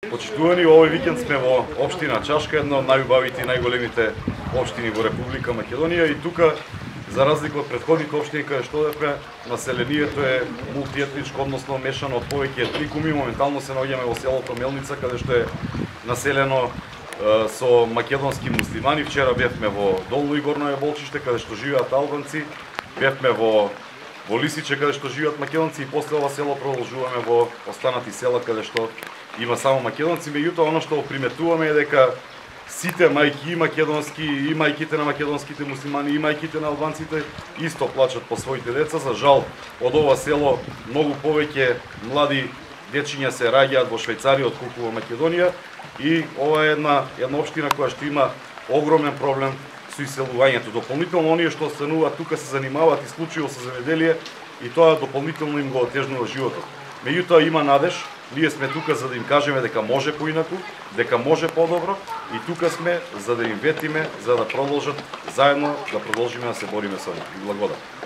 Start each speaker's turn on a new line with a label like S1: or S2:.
S1: Почитувани, овој викенд сме во општина Чашка, една од најубавите и најголемите општини во Република Македонија, и тука, за разлика од претходните општини каде што одевме, населението е мултиетничко, односно мешано од повеќе етникуми. Моментално се наоѓаме во селото Мелница, каде што е населено со македонски муслимани. Вчера бевме во Долно и Горно Јаболчиште, каде што живеат албанци, бевме во Лисиче, каде што живеат македонци, и после ова село продолжуваме во останати села каде што има само македонци. Меѓутоа, оно што приметуваме е дека сите мајки, и македонски, и мајките на македонските муслимани, и мајките на албанците исто плачат по своите деца. За жал, од ова село многу повеќе млади дечиња се раѓаат во Швајцарија отколку во Македонија, и ова е една општина која што има огромен проблем со иселувањето. Дополнително, оние што остануваат тука се занимаваат исклучиво со земјоделие, и тоа дополнително им го отежнува животот. Меѓутоа, има надеж. Ние сме тука за да им кажеме дека може поинаку, дека може подобро, и тука сме за да им ветиме, за да продолжат заедно да продолжиме да се бориме со нив. Благодарам.